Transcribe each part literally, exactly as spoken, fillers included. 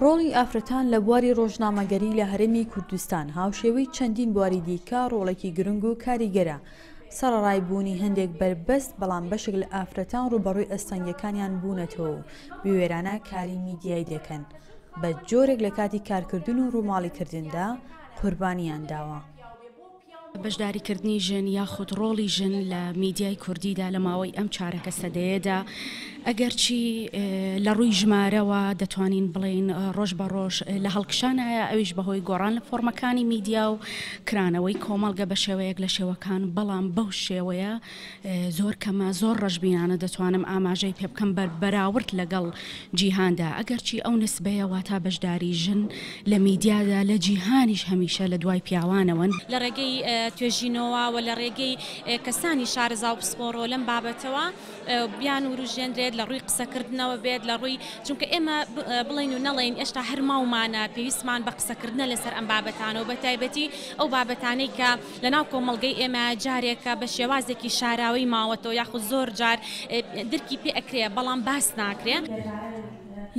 ڕۆڵی ئافرەتان لە بواری ڕۆژنامەگەری لە هەرێمی کوردستان هاوشێوەی چەندین بواری دیکە ڕۆڵێکی گرنگ و کاریگەرە. سەرەڕای بوونی هەندێک بەربەست، بەڵام بەشێک لە ئافرەتان ڕووبەڕووی ئەستەنگیەکانیان بوونەتەوە و بوێرانە کاری میدیایی دەکەن، بە جۆرێک لە کاتی کارکردن و ڕووماڵیکردندا قوربانیان داوە. بەشداریکردنی ژن یاخود ڕۆڵی ژن لە میدیای کوردیدا لە ماوەی ئەم چارەکە سەدەیەدا، ئەگەرچی لە ڕووی ژمارەوە دەتوانین بڵێین ڕۆژ بە ڕۆژ لە هەڵکشانایە، ئەویش بەهۆی گۆڕان لە فۆرمەکانی میدیا و کرانەوەی کۆمەڵگە بە شێوەیەک لە شێوەکان، بەڵام بەو شێوەیە زۆر کەمە، زۆر ڕەشبینانە دەتوانم ئاماژەی پێ بکەم بەراورد لەگەڵ جیهاندا. ئەگەرچی ئەو نسبەیە واتا بەشداری ژن لە میدیادا لە جیهانیش هەمیشە لە دوای پیاوانەوەن. لە ڕێگەی توێژینەوە و لە ڕێگەی کەسانی شارەزا و پسپۆڕەوە لەم بابەتەوە بیان وروژێنرێت، لە ڕووی قسەکردنەوە بێت، لە ڕووی چونکە ئێمە بڵێن و نەڵێن ئێشتا هەر ماومانە پێویستمان بە قسەکردنە لەسەر ئەم بابەتانەوە، بە تایبەتی ئەو بابەتانەی کە لەناو کۆمەڵگەی ئێمە جارێکە بە شێوازێکی شاراوی ماوەتەوە یاخود زۆر جار درکی پێ ئەکرێ بەڵام باس ناکرێ.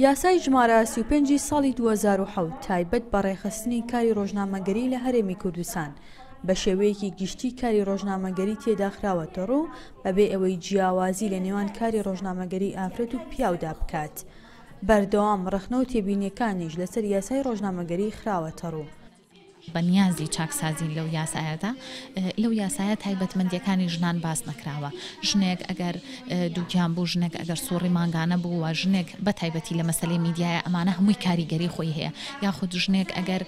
یاسای ژمارە سی و پێنجی ساڵی دوو هەزار و حەوت تایبەت بە ڕێکخستنی کاری ڕۆژنامەگەری لە هەرێمی کوردستان بە شێوەیەکی گشتی کاری ڕۆژنامەگەری تێداخراوەتە ڕوو بەبێ ئەوەی جیاوازی لە نێوان کاری ڕۆژنامەگەری ئافرەت و پیاودا بکات. بەردەوام ڕەخنە و تێبینیەکانیش لەسەر یاسای ڕۆژنامەگەری خراوەتە ڕوو. بە نیازی چاکسازین لەو یاسایەدا، لەو یاسایە تایبەتمەندیەکانی ژنان باس نەکراوە. ژنێک ئەگەر دووگیان بوو، ژنێک ئەگەر سوڕی مانگانە بوو و ژنێک بە تایبەتی لە مەسەلەی میدیایە ئەمانە هەمووی کاریگەری خۆی هەیە، یاخود ژنێک ئەگەر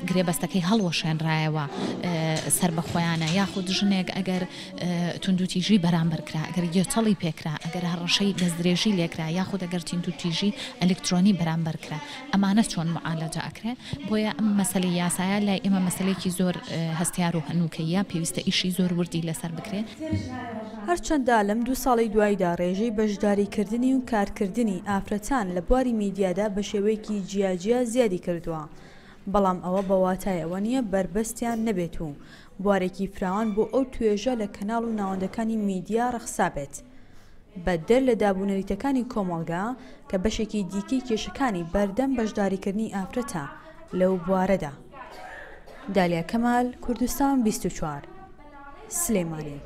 گرێبەستەکەی هەڵوەشێنرایەوە سەر بە خۆیانە، یاخود ژنێک ئەگەر توندوتیژی بەرامبەر کرا، ئەگەر گێچەڵی پێکرا، ئەگەر هەڕەشەی دەستدرێژی لێکرا، یاخود ئەگەر توندوتیژی ئەلکترۆنی بەرامبەر کرا، ئەمانە چۆن معالەجە ئەکرێ؟ بۆیە ئەم مەسەلەی یاسایە لای ئێمە مەسلەیەکی زۆر هەستیار و هەنووکەیە، پێویستە ئیشی زۆر وردی لەسەر بکرێ. هەرچەندە لەم دوو ساڵی دواییدا ڕێژەی بەشداریکردنی و کارکردنی ئافرەتان لە بواری میدیادا بە شێوەیەکی جیاجیا زیادی کردووە، بەڵام ئەوە بە واتای ئەوە نییە بەربەستیان نەبێت و بوارێکی فراوان بۆ ئەو توێژە لە کەناڵ و ناوەندەکانی میدیا ڕەخسابێت. بەدەر لە دابوونەریتەکانی کۆمەڵگا کە بەشێکی دیکەی کێشەکانی بەردەم بەشداریکردنی ئافرەتە لەو بوارەدا. دالیا کەمال، کوردستان بیست و چوار، سلێمانی.